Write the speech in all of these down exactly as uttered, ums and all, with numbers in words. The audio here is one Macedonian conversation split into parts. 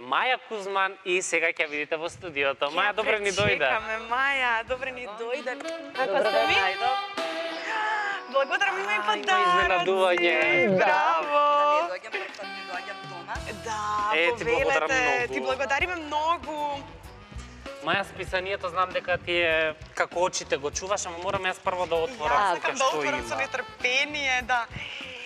Маја Кузман и сега ќе видите во студиото. Маја, добре ни дојде. Чекаме, Маја, добре ни дојде. Како сте ви? Благодарам, има и подароци. Браво! Да не дојдам, прв пат не дојдам дома. Да, Е, ти благодарам повелете, многу. ти благодариме многу. Маја, списанието знам дека ти е како очите го чуваш, ама морам јас прво да отворам Јас сека сакам да што отворам со има. нетрпение, да.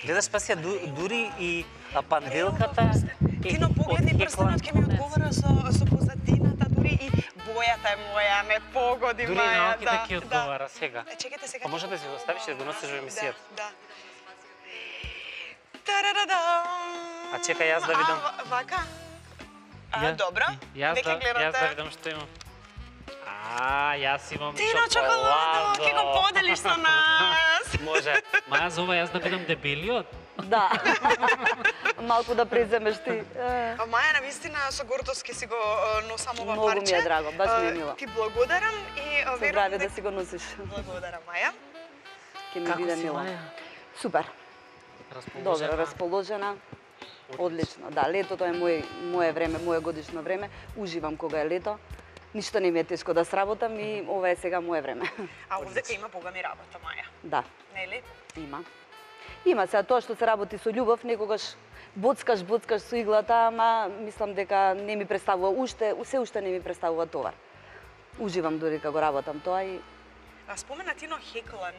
Гледаш, пасија, дури и а, панделката е Тино, погледни од прстенот ќе ми одговара со, со позадината, дури и бојата е моја, ме погоди, Дури Маја. и наоките да, ќе одговара сега. Е, чекайте сега. А може да си го оставиш и да го носиш во емисијата? Да, да. Тарададам. А чекај јас да видам. А, вака? А, Ја- добро. Јас Веќе да, гледате. јас да видам што имам. А, јас имам Тино, чоколадо, ќе го поделиш со нас. Може. Маја, за ова јас да видам дебелиот. Да. Малку да преземеш ти. Е. А Маја, навистина, со гордост ќе си го е, носам ова Многу парче. ми е драго, баш ми е Е, мило. Ти благодарам и е, Со верувам здравје да дека... си го носиш. Благодарам, Маја. Ќе ми Како биде си, мило. Маја? Супер. Расположена? Добро, расположена. Одлично. Да, летото е мој мое време, мое годишно време. Уживам кога е лето. Ништо не ми е тешко да сработам и ова е сега мое време. А овдека има богами работа, Маја. Да, Нели? има. Има се тоа што се работи со љубов, некогаш боцкаш, боцкаш со иглата, ама мислам дека не ми представува уште, се уште не ми представува товар. Уживам дури кога го работам тоа и А спомена Тино хеклан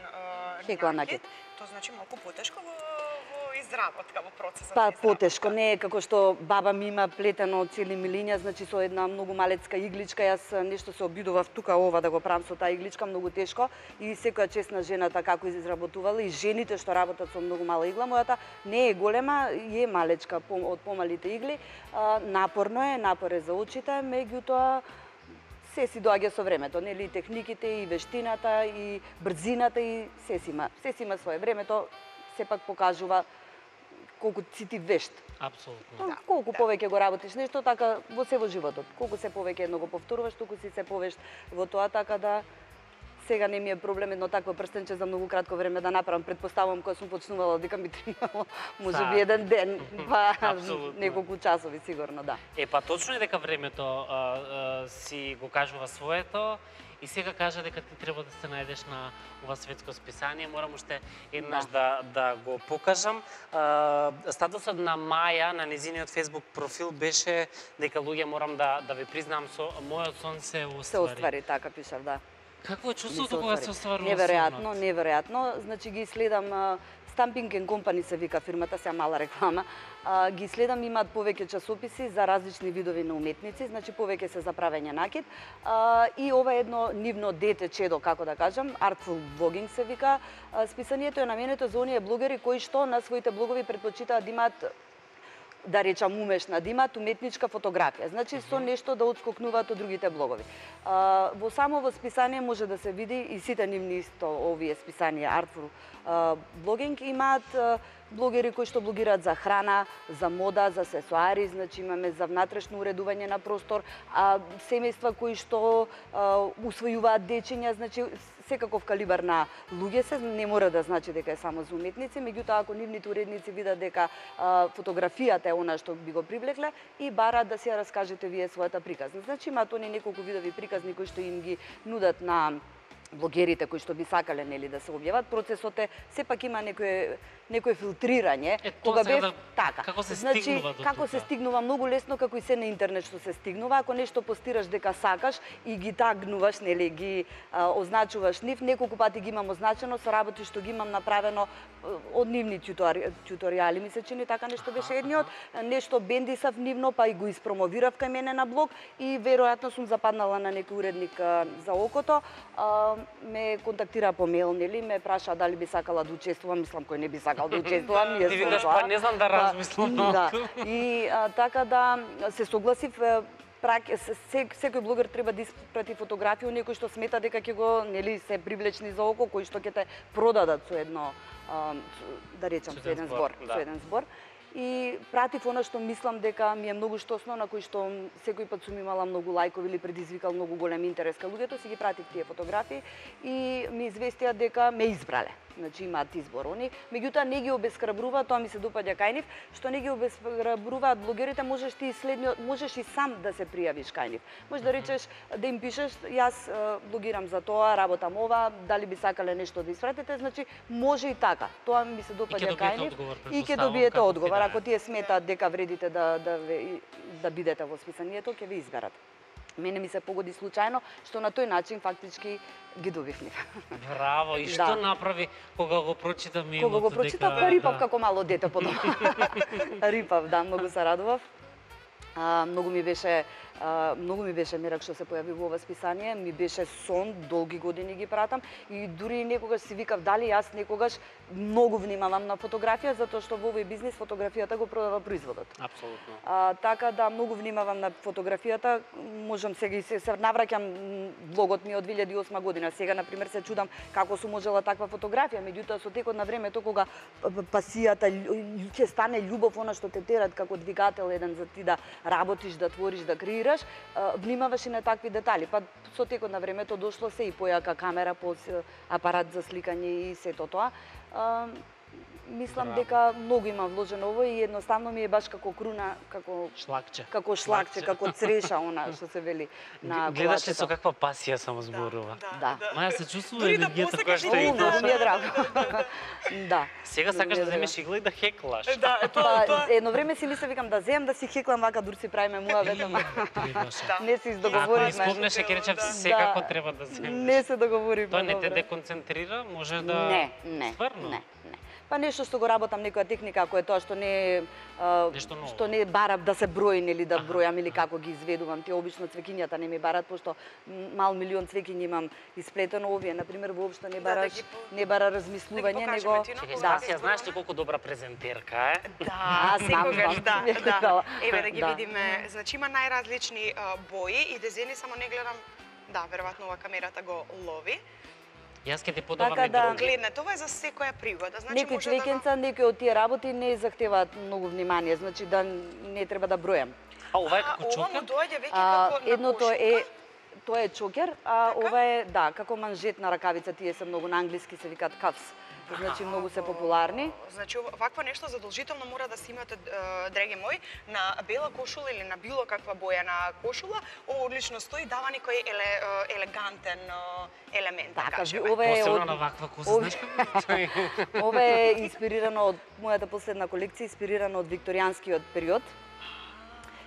е, Хеклан накид. Тоа значи малку потешко во, во изработка, во процесот па на изработка. потешко, не е како што баба ми има плетено цели милиња, значи со една многу малецка игличка, јас нешто се обидував тука ова да го правам со таа игличка, многу тешко и секоја честна жената како изработувала и жените што работат со многу мала игла, мојата не е голема, е малечка од помалите игли, а, напорно е, напор е за очите, меѓутоа се си доаѓа со времето, нели, и техниките, и вештината, и брзината, и се си има, се си има свое времето, сепак покажува колку си ти вешт. Апсолутно. Да, колку повеќе го работиш нешто, така во се во животот. Колку се повеќе едно го повторуваш, толку си се повешт во тоа, така да сега не ми е проблем едно такво прстенче за многу кратко време да направам. Предпоставувам кога сум почнувала дека ми требало можеби еден ден, па Апсолутно. неколку часови сигурно, да. Е, па точно е дека времето а, а, си го кажува своето и сега кажа дека ти треба да се најдеш на ова светско списание. Морам уште еднаш да, да, да го покажам. А, статусот на Маја на незиниот Facebook профил беше дека луѓе морам да, да ви признам со мојот сон се оствари. Се оствари, така пишав, да. Какво е Ми чувството се кога оствари. се остварува Неверојатно, сонот? неверојатно. Значи ги следам а, Stamping and Company се вика фирмата, сега мала реклама. А, ги следам, имаат повеќе часописи за различни видови на уметници, значи повеќе се за правење накид. А, и ова е едно нивно дете чедо, како да кажам, Artful Blogging се вика. А, списанието е наменето за оние блогери кои што на своите блогови предпочитаат да имаат, да речам умешна, да имаат уметничка фотографија. Значи со нешто да отскокнуваат од другите блогови. А, во само во списание може да се види и сите нивни исто овие списанија Artful Blogging имаат а, блогери кои што блогираат за храна, за мода, за сесоари, значи имаме за внатрешно уредување на простор, а семејства кои што а, усвојуваат дечиња, значи секаков калибар на луѓе се, не мора да значи дека е само за уметници, меѓутоа ако нивните уредници видат дека а, фотографијата е она што би го привлекле и бараат да си ја раскажете вие својата приказна. Значи имаат они неколку видови приказни кои што им ги нудат на блогерите кои што би сакале нели да се објават. Процесот е сепак има некое некое филтрирање. Е, Кога сега бев да- така. како се значи, стигнува до како тука? се стигнува многу лесно, како и се на интернет што се стигнува, ако нешто постираш дека сакаш и ги тагнуваш, нели ги а, означуваш нив, неколку пати ги имам означено со работи што ги имам направено а, од нивни тутори, туторијали, ми се чини така нешто беше едниот, нешто бендисав нивно, па и го испромовирав кај мене на блог и веројатно сум западнала на некој уредник а, за окото, а, ме контактира по мејл, нели, ме праша дали би сакала да учествувам, мислам кој не би сакал да учествувам, Ти викаш, па не знам да размислам да. малку. И а, така да се согласив, е, прак, се, секој блогер треба да испрати фотографија некој што смета дека ќе го, нели, се привлечни за око, кои што ќе те продадат со едно, а, да речам, со еден збор, да. со еден збор. И пратив она што мислам дека ми е многу штосно, на кој што секој пат сум имала многу лајкови или предизвикал многу голем интерес кај луѓето, си ги пратив тие фотографии и ми известија дека ме избрале. значи имаат избор они, меѓутоа не ги обесхрабруваат, тоа ми се допаѓа кај нив, што не ги обесхрабруваат блогерите, можеш ти следниот, можеш и сам да се пријавиш кај нив. Можеш да речеш, да им пишеш, јас блогирам за тоа, работам ова, дали би сакале нешто да испратите, значи може и така. Тоа ми се допаѓа кај нив и ќе добиете одговор. Ако тие сметаат дека вредите да да да бидете во списанието, ќе ви изберат. Мене ми се погоди случајно, што на тој начин фактички ги добив нив. Браво! И што Да. направи кога го прочита мемот? Кога го прочитав, па рипав како мало дете по дома. Рипав, да, многу се радував. А, многу ми беше а, многу ми беше мерак што се појави во ова списание, ми беше сон, долги години ги пратам и дури некогаш си викав дали јас некогаш многу внимавам на фотографија затоа што во овој бизнис фотографијата го продава производот. Апсолутно. А, така да многу внимавам на фотографијата, можам сега и се, се навраќам влогот ми од две илјади и осма година. Сега на пример се чудам како сум можела таква фотографија, меѓутоа со текот на времето кога пасијата љу- ќе стане љубов, она што те терат како двигател еден за ти да работиш, да твориш, да креираш, а, внимаваш и на такви детали. Па со текот на времето дошло се и појака камера, по апарат за сликање и сето тоа. А, Мислам Браво. дека многу има вложено ово и едноставно ми е баш како круна, како Шлакче. како шлакче, како цреша она што се вели на Гледаш ли колачето. со каква пасија само зборува? Да. Маја се чувствува Дури да енергијата посакаш која да што О, и многу да. ми е драго. Да. Сега Многу сакаш ми да е драго. земеш игла и да хеклаш. Да, тоа, Па, тоа. едно време си мислев, викам да земам да си хеклам вака дур си правиме муавет, ама Требаше. Да. не се Ако издоговоривме. испомнеш, ќе речев Да. секако Да. треба да земеш. Не се договоривме. Тоа не те добро. деконцентрира, може да... Не, не, Стварно? не, не. Па нешто што го работам, некоја техника, ако е тоа што не а, Нешто ново. што не барам да се брои, нели да Аха, бројам или како ги изведувам. Тие обично цвеќињата не ми барат, пошто м, мал милион цвеќиња имам исплетено, овие на пример воопшто не Да, да бараш, ги по- не бара да размислување, ги него покажеме, Тино, Чекај, кога да. се Ја знаеш ли зборува? колку добра презентерка е? Да, Аз знам, секогаш знам, да, ми е да. кажала. Еве да ги Да. видиме, значи има најразлични а, бои и дизајни, само не гледам. Да, веројатно ова камерата го лови. Јас ќе ти подавам Така и да. други. Гледнете, ова е за секоја пригода. Значи некои може да го... цвеќенца, некои од тие работи не захтеваат многу внимание, значи да не треба да бројам. А ова е А, како ова му чокер? доаѓа веќе А, како на едното кошулка. е тоа е чокер, а Така? ова е да, како манжетна ракавица, тие се многу на англиски се викаат cuffs. Значи многу се популарни. Значи ова- вакво нешто задолжително мора да се имате, е, драги мој, на бела кошула или на било каква боја на кошула. Ова одлично стои, дава некој еле, е, елегантен е, елемент, да Така, кажеме. ова е Посебно од на ваква коса, Ови- знаеш како тој? ова е инспирирано од мојата последна колекција, инспирирано од викторијанскиот период.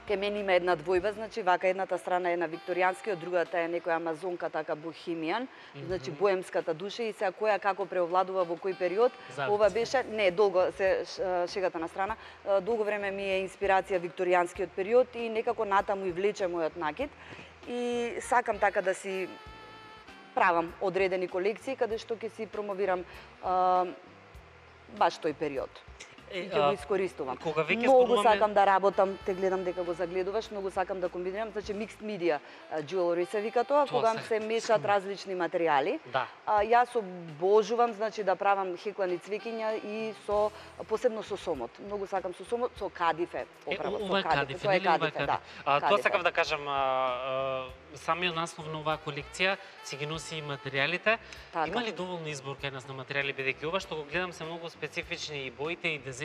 Ке мене има една двојба, значи вака едната страна е на викторијанскиот, другата е некоја амазонка, така бохемијан, значи боемската душа и сега која како преовладува во кој период. Завица. Ова беше, не, долго се ш- шегата на страна, а, долго време ми е инспирација викторијанскиот период и некако натаму и влече мојот накид. И сакам така да си правам одредени колекции каде што ќе си промовирам а, баш тој период. И ќе го искористувам. Кога веќе Многу зборуваме- сакам да работам, те гледам дека го загледуваш, многу сакам да комбинирам, значи mixed media jewelry се вика тоа, Тоа кога се- се мешаат различни материјали. Да. А, јас обожувам, значи да правам хеклани цвеќиња и со посебно со сомот. Многу сакам со сомот, со кадифе, Е, поправо, ова е со кадифе, Тоа е нели ова е кадифе, да. А, тоа кадифе. сакав да кажам, а, а, самиот наслов на оваа колекција си ги носи и материјалите. Така. Има ли доволно избор кај нас на материјали, бидејќи ова што го гледам се многу специфични и боите и дизајнот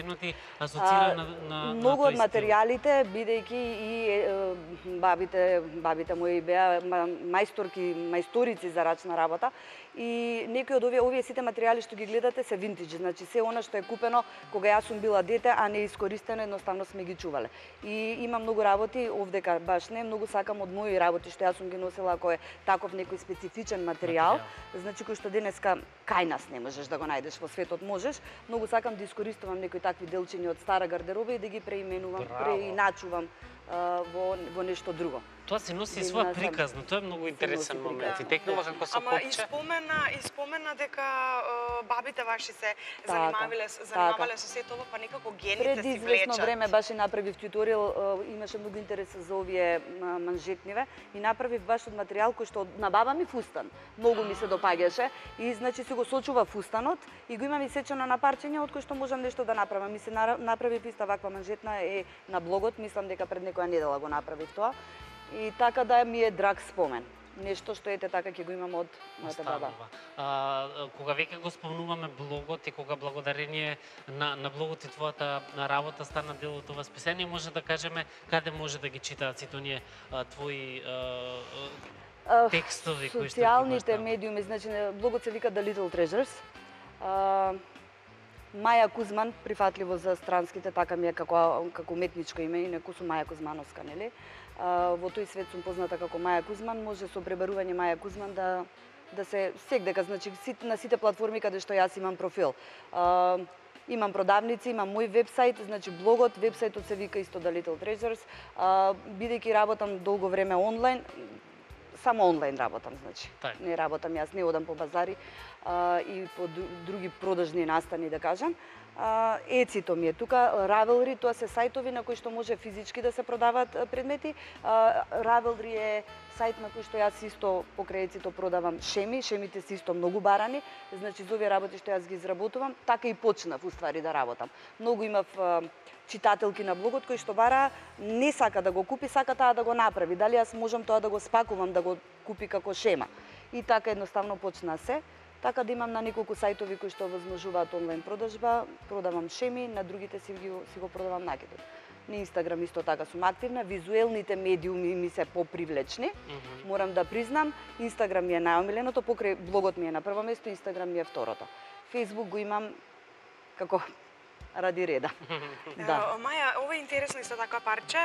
асоцира на, на, многу на од тој стил. материјалите, бидејќи и е, бабите, бабите мои беа ма- мајсторки, мајсторици за рачна работа, и некои од овие овие сите материјали што ги гледате се винтидж, значи се она што е купено кога јас сум била дете, а не искористено, едноставно сме ги чувале. И има многу работи овдека баш не, многу сакам од мои работи што јас сум ги носела ако е таков некој специфичен материјал, Материјал. значи кој што денеска кај нас не можеш да го најдеш, во светот можеш. Многу сакам да искористувам некои такви делчиња од стара гардероба и да ги преименувам, Браво. преиначувам а, во во нешто друго. Тоа се носи Видна своја сам. приказна, тоа е многу интересен носи момент. И приказна. текнува како со Ама и копче. спомена, и спомена дека е, бабите ваши се Така, занимавале, занимавале со сето ова, па некако гените Пред си известно влечат. време баш и направив туторијал, а, имаше многу интерес за овие а, манжетниве и направив баш од материјал кој што на баба ми фустан. Многу ми се допаѓаше и значи си го сочува фустанот и го имам исечено на парчиња од кој што можам нешто да направам. Ми се нара- направив иста ваква манжетна е на блогот, мислам дека пред некоја недела го направив тоа. И така да ми е драг спомен. нешто што ете така ќе го имам од мојата баба. А, кога веќе го спомнуваме блогот и кога благодарение на, на блогот и твојата работа стана дел од ова списание, може да кажеме каде може да ги читаат сите оние а, твои а, текстови кои што социјалните медиуми, значи блогот се вика The Little Treasures. А, Маја Кузман, прифатливо за странските, така ми е како како уметничко име, инаку сум Маја Кузмановска, нели? А, во тој свет сум позната како Маја Кузман, може со пребарување Маја Кузман да да се сегдека, значи на сите платформи каде што јас имам профил. А, имам продавници, имам мој вебсајт, значи блогот, вебсајтот се вика исто The Little Treasures. А, бидејќи работам долго време онлайн, само онлайн работам, значи. Так. Не работам, јас не одам по базари а, и по други продажни настани, да кажам. А, Ецито ми е тука, Ravelry, тоа се сајтови на кои што може физички да се продаваат предмети. А, Ravelry е сајт на кој што јас исто покрај Ецито продавам шеми, шемите се исто многу барани, значи за овие работи што јас ги изработувам, така и почнав уствари да работам. Многу имав а, читателки на блогот кои што бара не сака да го купи, сака таа да го направи. Дали јас можам тоа да го спакувам, да го купи како шема. И така едноставно почна се. Така да имам на неколку сајтови кои што возможуваат онлайн продажба, продавам шеми, на другите си, ги, си го продавам накидот. На Инстаграм исто така сум активна, визуелните медиуми ми се попривлечни, mm -hmm. морам да признам. Инстаграм ми е најомиленото, покрај блогот ми е на прво место, Инстаграм ми е второто. Фејсбук го имам како ради реда. Да. Маја, ова е интересно исто така парче.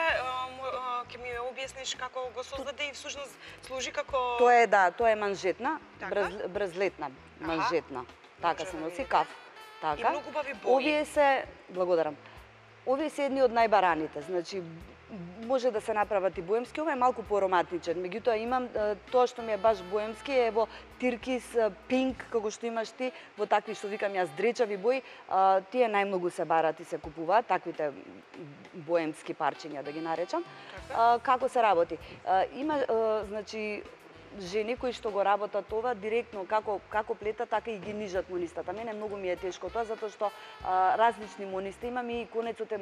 Ќе ми објасниш како го создаде и всушност служи како... Тоа е, да, тоа е манжетна, така? брз, брзлетна манжетна. Така се носи, каф. Така. И многу убави бои. Овие се, благодарам. Овие се едни од најбараните, значи може да се направат и боемски, ова е малку поароматичен. Меѓутоа имам тоа што ми е баш боемски е во тиркис, пинк, како што имаш ти, во такви што викам јас дречави бои, а, тие најмногу се барат и се купуваат, таквите боемски парчиња да ги наречам. А, како се работи? А, има а, значи жени кои што го работат ова директно како како плета, така и ги нижат монистата. Мене многу ми е тешко тоа затоа што а, различни монисти имам и конецот е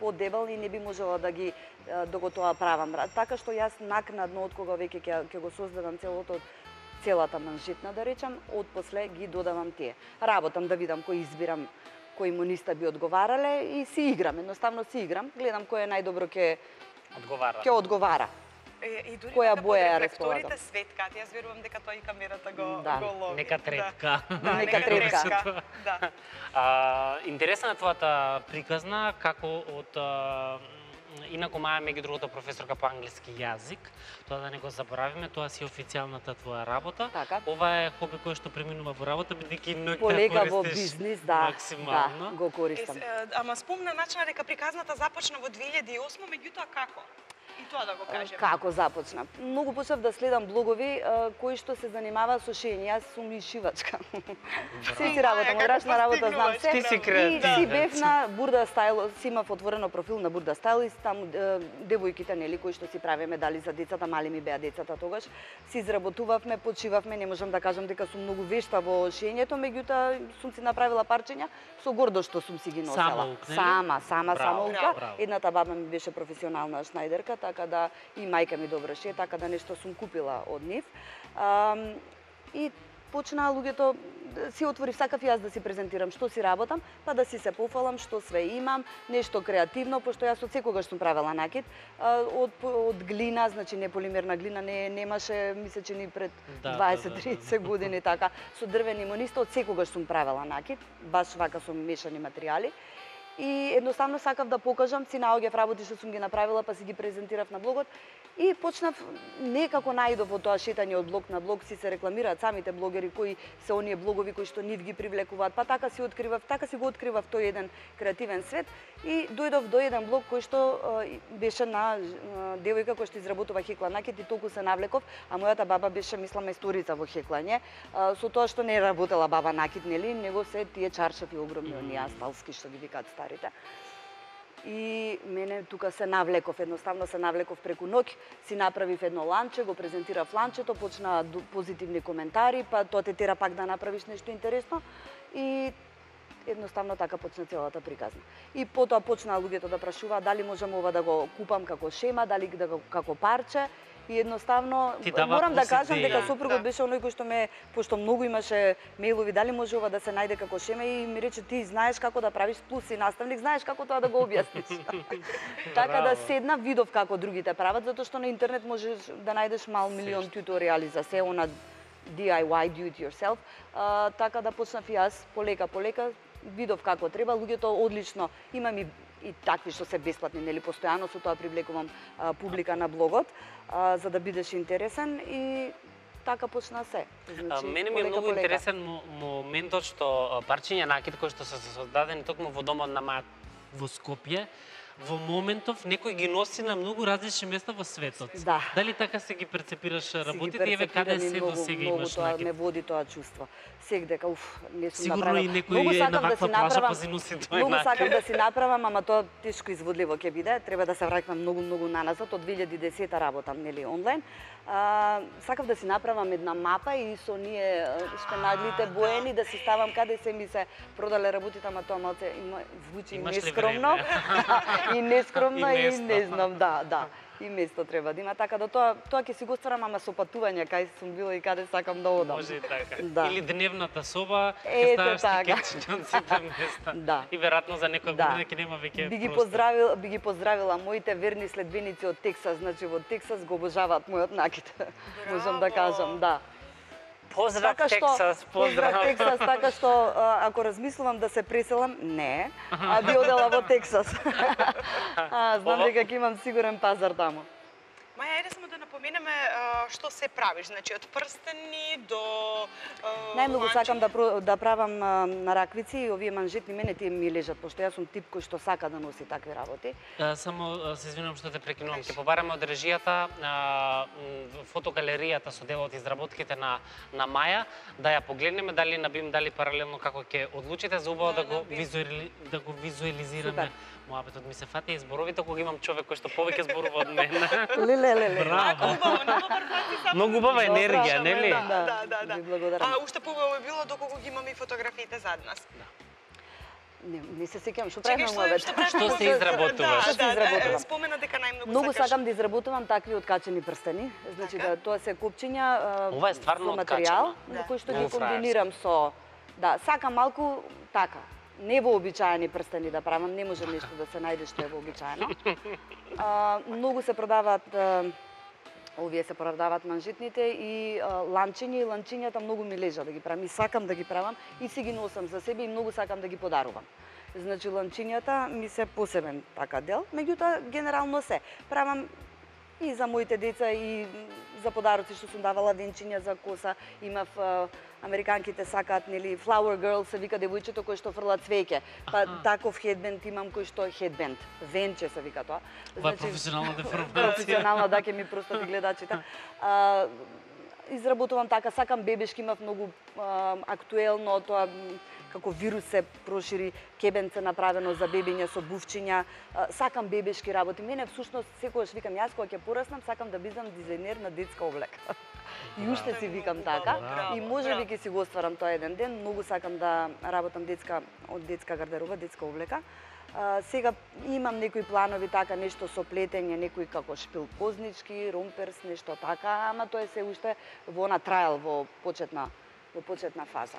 подебел и не би можела да ги да го тоа правам. Така што јас накнадно од кога веќе ќе ќе го создадам целото целата манжетна да речам, од после ги додавам тие. Работам да видам кој избирам, кои мониста би одговарале и си играм, едноставно си играм, гледам кој е најдобро ќе одговара. Ќе одговара. И дури која да боја ја рефлекторите светкаат, јас верувам дека тоа и камерата го, да. го лови. Нека третка. Да, да нека третка. Да. А, интересна е твојата приказна, како од а, инаку Маја меѓу другото професорка по англиски јазик, тоа да не го заборавиме, тоа си официјалната твоја работа. Така. Ова е хоби кој што преминува во работа, бидејќи ноќта полека во користиш бизнис, да, максимално. Да, го користам. Е, ама спомна начина дека приказната започна во две илјади и осма, меѓутоа како? И тоа да го кажем. Како започна? Многу почнав да следам блогови кои што се занимаваа со шиење. Јас сум и шивачка. Се си работам, одрачна работа, знам се. Ти си креативна. И си бев на Бурда Стайл, си имав отворено профил на Бурда Стайл и таму девојките, нели, кои што си правиме медали за децата, мали ми беа децата тогаш, си изработувавме, почивавме, не можам да кажам дека сум многу вешта во шиењето, меѓутоа сум си направила парчиња со гордост што сум си ги носела. Самоук, нели? Сама, сама, самоука. Браво. Едната баба ми беше професионална шнајдерка, така да и мајка ми добро ше, така да нешто сум купила од нив. А, и почнаа луѓето, си отворив, сакав јас да си презентирам што си работам, па да си се пофалам што све имам, нешто креативно, пошто јас од секогаш сум правела накид, од, од глина, значи не полимерна глина, не немаше, мисля че ни пред да, дваесет до да, тридесет да. години, така, со дрвени мониста, од секогаш сум правела накид, баш вака со мешани материјали. И едноставно сакав да покажам, си наоѓав работи што сум ги направила, па си ги презентирав на блогот и почнав некако наидов во тоа шетање од блог на блог, си се рекламираат самите блогери кои се оние блогови кои што нив ги привлекуваат, па така си откривав, така си го откривав тој еден креативен свет и дојдов до еден блог кој што беше на девојка која што изработува хекла накид и толку се навлеков, а мојата баба беше, мислам, мајсторица во хеклање, со тоа што не работела баба накид, нели, него се тие чаршафи огромни, оние асталски што ги викаат старите. И мене тука се навлеков, едноставно се навлеков преку ноќ, си направив едно ланче, го презентирав ланчето, почнаа позитивни коментари, па тоа те тера пак да направиш нешто интересно и едноставно така почна целата приказна. И потоа почнаа луѓето да прашуваат дали можам ова да го купам како шема, дали да го како парче. И едноставно морам да кажам дека сопругот беше оној кој што ме, пошто многу имаше мејлови, дали може ова да се најде како шеме, и ми рече ти знаеш како да правиш, плюс си наставник, знаеш како тоа да го објасниш. Така да седна, видов како другите прават, затоа што на интернет можеш да најдеш мал милион туторијали за се она ди ај вај, do it yourself. А, така да почнав и јас полека полека, видов како треба, луѓето одлично, имам и и такви што се бесплатни, нели, постојано со тоа привлекувам а, публика на блогот, а, за да бидеш интересен, и така почна се. Значи, мене ми е многу полека. Интересен моментот што парчиња накид кои што се создадени токму во домот на маја во Скопје, во моментов некој ги носи на многу различни места во светот. Да. Дали така се ги перцепираш работите и еве каде се до сега имаш тоа, накид? ме води тоа чувство. Сек дека уф, не сум Сигурно направила. и некој е на ваква плажа па си носи тој Многу накид. сакам да си направам, ама тоа тешко изводливо ќе биде. Треба да се враќам многу многу наназад, од две илјади и десета работам, нели, онлайн. А, сакав да си направам една мапа и со ние шпенадлите боени да си ставам каде се ми се продале работите, ама тоа малце има звучи нескромно. И нескромно и, и не знам, да, да. И место треба да има, така да тоа тоа ќе си го стварам, ама со патување кај сум била и каде сакам да одам. Може и така. Да. Или дневната соба, Ете, ќе ставаш така. тикетчиња од сите места. Да. И веројатно за некоја Да. година ќе нема веќе Би ги простор. поздравил, би ги поздравила моите верни следбеници од Тексас, значи во Тексас го обожаваат мојот накид. Можам да кажам, да. Поздрав Така што, Тексас, поздрав. поздрав Тексас, така што а, ако размислувам да се преселам, не, а би одела во Тексас. а, знам Ова- дека ќе имам сигурен пазар таму. Маја, ајде само да напоменеме а, што се правиш, значи од прстени до а, Најмногу ланчи. сакам да, про- да правам а, на раквици, и овие манжетни мене тие ми лежат, пошто јас сум тип кој што сака да носи такви работи. А, Само а, се извинувам што те прекинувам. Ќе побараме од режијата, а, м, фотогалеријата со дел од изработките на на Маја, да ја погледнеме дали на бим, дали паралелно како ќе одлучите за убаво да, Да, го на бим. визуали, да го визуализираме. Супер. Моабетот ми се фати и зборовите кога имам човек кој што повеќе зборува од мене. Леле, леле. Браво. Убаво, на добар пати само. Многу убава Добра, енергија, нели? да. Да, да, да. Ви благодарам. А уште поубаво е било доколку ги имаме и фотографиите зад нас. Не, не се сеќавам што Чекај, правиме што- мојот. што правиме Што се за- изработуваш? Да, Што се да, да, изработувам? спомена дека најмногу Многу сакаш. сакам да изработувам такви откачени прстени. Значи Така. да тоа се копчиња а, Ова е стварно со материјал, откачено. на Да. кој што ги Многу фраерски. комбинирам со да, сакам малку така. Не вообичаени прстени да правам, не може нешто да се најде што е вообичаено. А, многу се продаваат а, овие се продаваат манжетните и а, ланчиња, и ланчињата многу ми лежа да ги правам и сакам да ги правам и си ги носам за себе и многу сакам да ги подарувам. Значи ланчињата ми се посебен така дел, меѓутоа генерално се правам и за моите деца и за подароци што сум давала венчиња за коса, имав а, американките сакаат, нели, flower girl се вика девојчето кој што фрла цвеќе. Па таков хедбенд имам кој што хедбенд, венче се вика тоа. Ова е професионална деформација. професионална, да, ќе ми простат и гледачите. А, изработувам така, сакам бебешки, имав многу а, актуелно тоа м, како вирус се прошири, кебенце направено за бебиња со бувчиња. А, сакам бебешки работи. Мене всушност секогаш викам јас кога ќе пораснам сакам да бидам дизајнер на детска облека. И уште си викам така. Браво, И може би ќе си го остварам тоа еден ден. Многу сакам да работам детска од детска гардероба, детска облека. А, сега имам некои планови така, нешто со плетење, некои како шпил кознички, ромперс, нешто така, ама тоа е се уште во на трајал, во почетна во почетна фаза.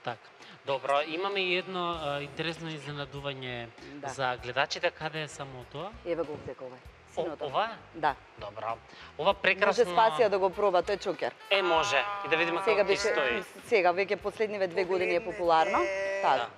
Така. Добро, имаме и едно а, интересно изненадување Да. за гледачите, каде е само тоа? Еве го овдека овај. О, Синото. ова? Да. Добро. Ова Може прекрасно... Спасија да го проба, тој чокер. Е, може. И да видиме Сега како ќе беше стои. сега веќе последниве две години е популарно. Погледнете. Така.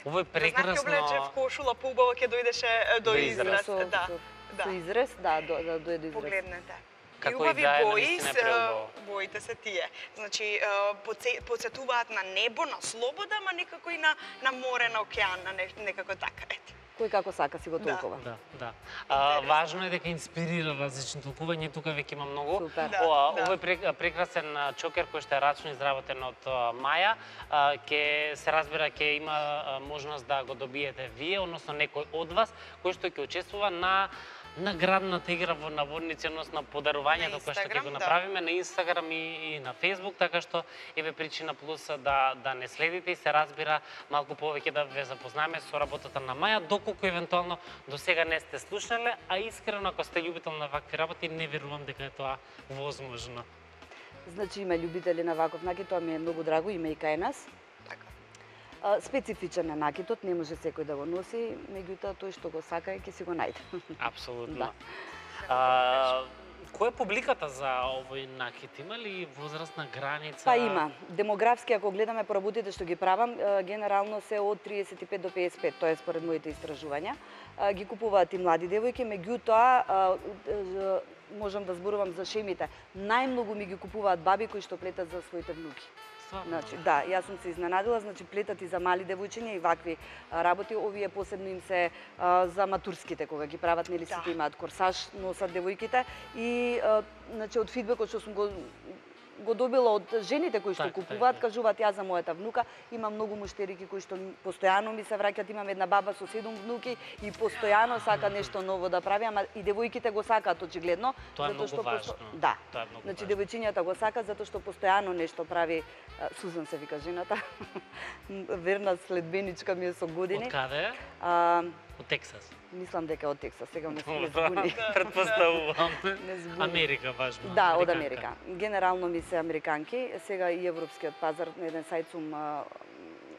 Ова е Знаете, прекрасно. облече в кошула, поубаво ќе дојдеше е, до До израз. Со, Да, со, да. со изрез, да, до, да дојде до изрез. Погледнете. Како И убави идеја, бои, наистина е се, преубаво. боите се тие. Значи, е, подсе- подсетуваат на небо, на слобода, ама некако и на, на море, на океан, на не, некако така. Ете. Кој како сака си го Да. толкова. Да, да. А, важно е дека инспирира различни толкувања, тука веќе има многу. Супер. Да. Ова, ова е прек- прекрасен а, чокер кој што е рачно изработен од а, Маја. А, Ке се разбира ќе има а, можност да го добиете вие, односно некој од вас кој што ќе учествува на наградната игра во наводници, односно подарувањето кое што ќе го направиме на Инстаграм и, и на Фејсбук, така што еве причина плюс да да не следите и се разбира малку повеќе да ве запознаеме со работата на Маја, доколку евентуално до сега не сте слушнале, а искрено ако сте љубител на вакви работи, не верувам дека е тоа возможно. Значи има љубители на ваков накид, тоа ми е многу драго, има и кај нас. Така. Специфичен е накидот, не може секој да го носи, меѓутоа тој што го сака ќе си го најде. Апсолутно. Да. А, која е публиката за овој накид? Има ли возрастна граница? Па има. Демографски, ако гледаме по работите што ги правам, генерално се од триесет и пет до пеесет и пет, тоа е според моите истражувања. Ги купуваат и млади девојки, меѓутоа можам да зборувам за шемите. Најмногу ми ги купуваат баби кои што плетат за своите внуки. Значи, да, јас сум се изненадила, значи плетат и за мали девојчиња и вакви а, работи, овие посебно им се а, за матурските кога ги прават, нели сите имаат корсаж, носат девојките и а, значи од фидбекот што сум го го добила од жените кои што так, купуваат, так, кажуваат јас за мојата внука, имам многу муштерики кои што постојано ми се враќаат, имам една баба со седум внуки и постојано сака нешто ново да прави, ама и девојките го сакаат очигледно, тоа е затоа што важно. да. Тоа е многу Значи важно. девојчињата го сакаат затоа што постојано нешто прави. Сузан се вика жената. Верна следбеничка ми е со години. Од каде? А, од Тексас. Мислам дека од Тексас, сега ме се Добро, збуни. Претпоставувам. Не збуни. Америка важно. Да, од Американка. Америка. Генерално ми се американки, сега и европскиот пазар, на еден сајт сум а,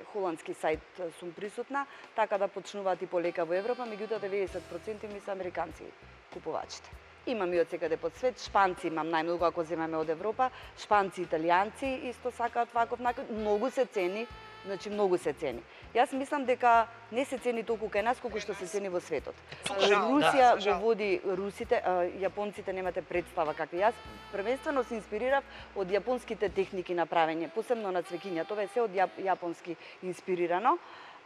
холандски сајт сум присутна, така да почнуваат и полека во Европа, меѓутоа деветдесет проценти ми се американци купувачите. Имам и од секаде по свет, шпанци имам најмногу ако земеме од Европа, шпанци, италијанци исто сакаат ваков накид, многу се цени, значи многу се цени. Јас мислам дека не се цени толку кај нас колку што се цени во светот. Жал, Русија да, го води русите, а, јапонците немате представа какви. Јас првенствено се инспирирав од јапонските техники на правење, посебно на цвеќиња. Тоа е се од јап, јапонски инспирирано.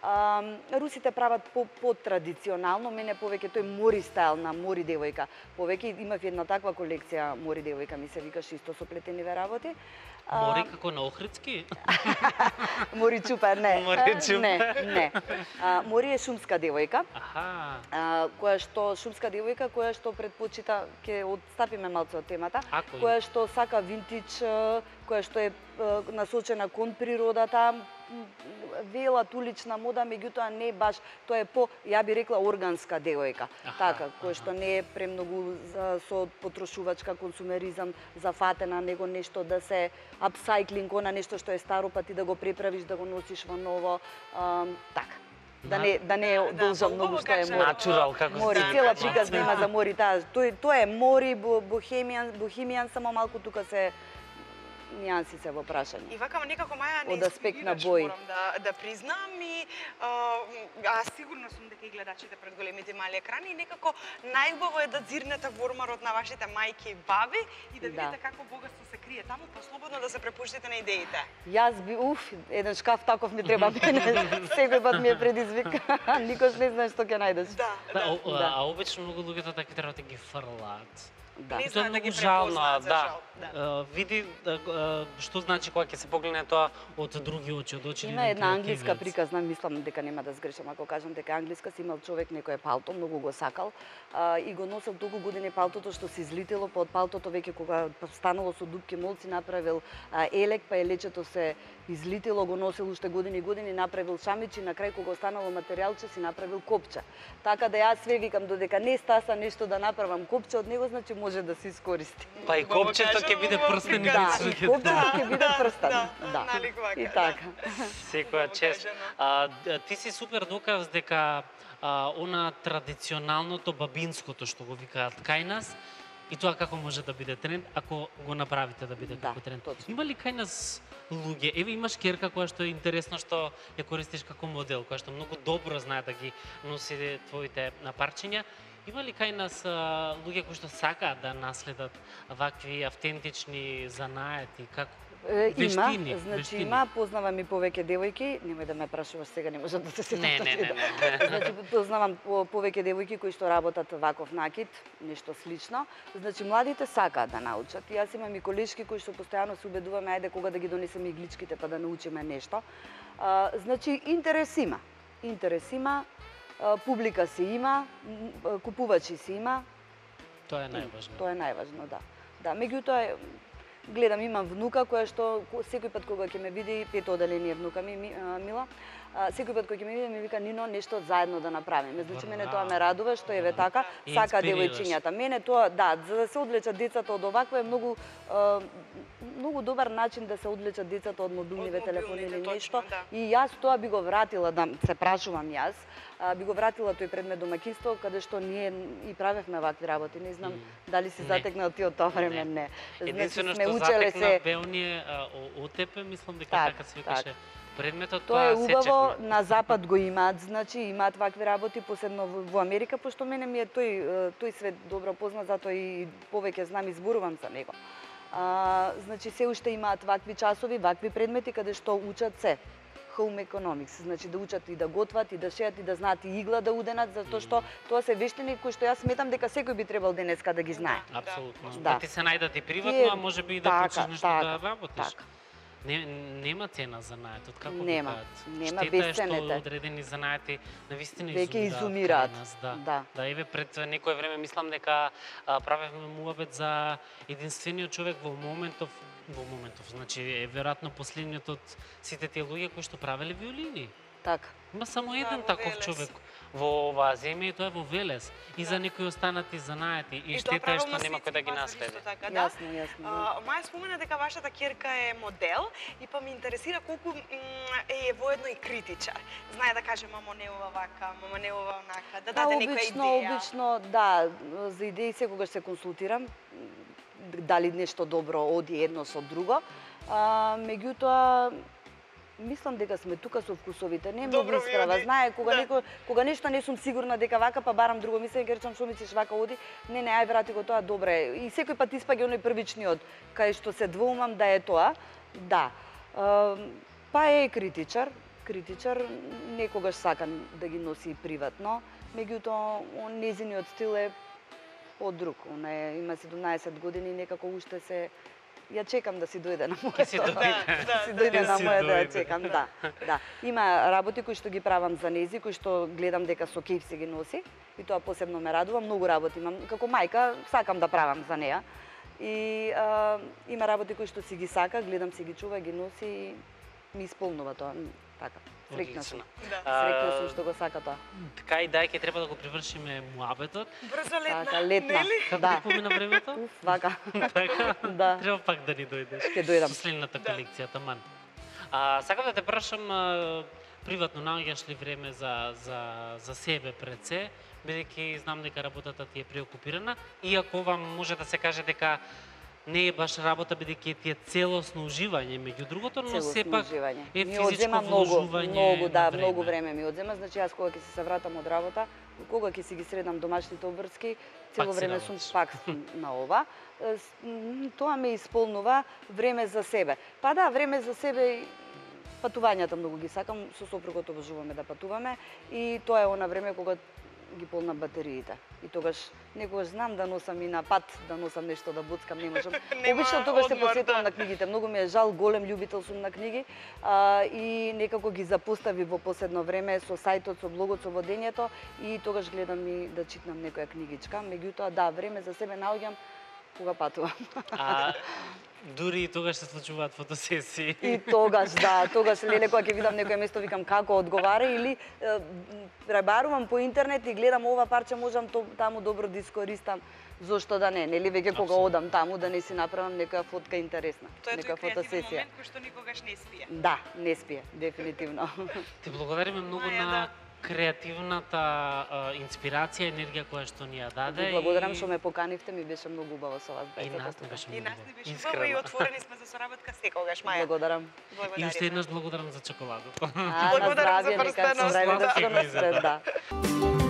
А, русите прават по, по традиционално, мене повеќе тој мори стайл на мори девојка. Повеќе имав една таква колекција мори девојка, ми се викаше исто со плетениве работи. Мори како на Охридски? Мори чупа, не. Мори чупа. Не, не. А, мори е шумска девојка. Аха. А, која што шумска девојка која што предпочита, ќе отстапиме малку од темата, Ако која што сака винтидж, која што е насочена кон природата, велат улична мода, меѓутоа не баш, тоа е по, ја би рекла, органска девојка. Аха, Така, која аха. што не е премногу за, со потрошувачка консумеризам зафатена, него нешто да се апсайклинг, она нешто што е старо, па ти да го преправиш, да го носиш во ново, а, така. Да не да не Да, должам да, многу убаво што е кажа. мори. Натурал, како Мори, се цела вика. приказна има за мори, таа. Тој тоа е мори, бо- бохемијан, бохемијан, само малку тука се нијанси се во прашање. И вака некако Маја не Од аспект на инспирираш, бој. морам да да признам и а, аз сигурно сум дека и гледачите пред големите и мали екрани и некако најубаво е да дзирнете во ормарот на вашите мајки и баби и да Да. видите како богатство се крие таму, па слободно да се препуштите на идеите. Јас би, уф, еден шкаф таков ми треба мене. Секој пат ми е предизвик. Никош не знаеш што ќе најдеш. Да, Да, да. о- Да. а обично многу луѓето така треба да ги фрлаат. Да. Не И тоа е знаат да многу ги жално, препознаат, за да. жал, да. А, види да, а, што значи кога ќе се погледне тоа од други очи, од очи Има една англиска приказна, мислам дека нема да сгрешам ако кажам дека англиска си имал човек некое палто, многу го сакал а, и го носел толку години палтото што се излетело, па од палтото веќе кога станало со дупки молци направил а, елек, па елечето се излетело, го носел уште години и години, направил шамич и на крај кога останало материјалче си направил копче. Така да јас све викам додека не стаса нешто да направам копче од него, значи може да се искористи. Па и Убаво копчето кажано, ќе биде убаво прстен и приказна. Да, и копчето ќе биде Да, прстен. да, Да. наликувака, И да. така. Секоја Убаво чест. кажано. А, д- ти си супер доказ дека а, она традиционалното бабинското што го викаат кај нас и тоа како може да биде тренд ако го направите да биде Да, како тренд. точно. Има ли кај нас луѓе? Еве имаш керка која што е интересно што ја користиш како модел, која што многу добро знае да ги носи твоите напарчиња. Има ли кај нас а, луѓе кои што сакаат да наследат вакви автентични занаети, како Е, има, вештини, значи вештини? има, познавам и повеќе девојки, немој да ме прашуваш сега, не можам да се сетам. Не, не, не, не, не. Значи познавам по- повеќе девојки кои што работат ваков накид, нешто слично. Значи младите сакаат да научат. И јас имам и колешки кои што постојано се убедуваме ајде кога да ги донесеме игличките па да научиме нешто. А, значи интерес има. Интерес има, а, публика си има, м, купувачи си има. Тоа е најважно. Тоа е најважно, да. Да, меѓутоа гледам, имам внука која што секој пат кога ќе ме види, пето оделение внука ми Мила, секој пат кога ќе ме види ми вика Нино нешто заедно да направиме. Значи мене тоа ме радува што еве така сака девојчињата. Мене тоа да, за да се одлечат децата од овакво е многу многу добар начин да се одлечат децата од мобилниве телефони или нешто. И јас тоа би го вратила, да се прашувам јас, би го вратила тој предмет домаќинство каде што ние и правевме вакви работи. Не знам дали си затекнал ти од тоа време, не. Единствено што затекна бе оние ОТП, мислам дека така се викаше. Предметот тоа е убаво, на запад го имаат, значи имаат вакви работи, посебно во Америка, пошто мене ми е тој тој свет добро познат, затоа и повеќе знам и зборувам за него. А, значи се уште имаат вакви часови, вакви предмети каде што учат се. Home economics, значи да учат и да готват, и да шеат, и да знаат и игла да уденат, затоа што тоа се вештини кои што јас сметам дека секој би требал денеска да ги знае. Апсолутно. Да ти се најдат и приватно, а може би и да почнеш нешто да работиш. Не, нема цена за наетот, како нема, би нема безценете. Штета е што одредени занаети навистина веќе изумираат. Да. Да. Да, еве пред некое време мислам дека правевме муабет за единствениот човек во моментов во моментов, значи е веројатно последниот од сите тие луѓе кои што правеле виолини. Така. Има само еден таков човек во оваа земја и тоа е во Велес. И за некои останати занаети и штета е што нема кој да ги наследи. Јасно, јасно. Маја спомена дека вашата ќерка е модел и па ме интересира колку е воедно и критичар. Знае да каже мамо не ова вака, мамо не ова онака, да даде некоја идеја. Обично, да, за идеи секогаш се консултирам дали нешто добро оди едно со друго. А, меѓутоа мислам дека сме тука со вкусовите, не многу исправа. Знае кога да. некој кога нешто не сум сигурна дека вака па барам друго мислење, ќе речам што мислиш вака оди, не не ај врати го тоа добре. И секој пат испаѓа оној првичниот кај што се двоумам да е тоа. Да. А, па е критичар, критичар некогаш сака да ги носи приватно, меѓутоа незиниот стил е од друг. Она е, има седумнаесет години и некако уште се ја чекам да си дојде на моето. Си дојде, да, си дојде на моето да ја чекам, да. Да. Има работи кои што ги правам за нези, кои што гледам дека со кејф се ги носи и тоа посебно ме радува. Многу работи имам како мајка, сакам да правам за неа. И а, има работи кои што си ги сака, гледам си ги чува, ги носи и ми исполнува тоа. Така. Среќна сум. Да. Среќна сум што го сака тоа. Така и дај, ќе треба да го привршиме муабетот. Брзо летна. Така, летна. Како да. помина времето? Уф, вака. Така? Да. Треба пак да ни дојдеш. Ќе дојдам. Со следната колекција, таман. А, сакам да те прашам, а, приватно наоѓаш ли време за, за, за себе пред се, бидејќи знам дека работата ти е преокупирана, иако вам може да се каже дека не е баш работа, бидејќи ти е целосно уживање меѓу другото, но сепак е физичко вложување. Многу, да, време. многу време ми одзема. Значи јас кога ќе се се вратам од работа, кога ќе си ги средам домашните обврски, цело време сум пак на ова. Тоа ме исполнува време за себе. Па да, време за себе, патувањата многу ги сакам, со сопругот обожуваме да патуваме и тоа е она време кога ги полнам батериите. И тогаш некогаш знам да носам и на пат, да носам нешто да буцкам, не можам. Обично тогаш се посветувам на книгите. Многу ми е жал, голем љубител сум на книги а, и некако ги запостави во последно време со сајтот, со блогот, со водењето и тогаш гледам и да читам некоја книгичка. Меѓутоа, да, време за себе наоѓам кога патувам. А дури и тогаш се случуваат фотосесии. И тогаш, да, тогаш леле кога ќе видам некое место викам како одговара или е, пребарувам по интернет и гледам ова парче можам то, таму добро да искористам. Зошто да не, нели веќе кога одам таму да не си направам некоја фотка интересна, тоа некоја фотосесија. Тоа е момент кој што никогаш не спие. Да, не спие, дефинитивно. Ти благодариме многу Маја, на да. креативната а, инспирација, енергија која што ни ја даде. Ви благодарам што ме поканивте, ми беше многу убаво со вас. И нас не беше И многу нас не беше искрено. убаво и отворени сме за соработка секогаш, Маја. Благодарам. И уште еднаш благодарам за чоколадото. А, на Благодарам за здравје, нека прстенот. се здравје да Сладки се мизе, да.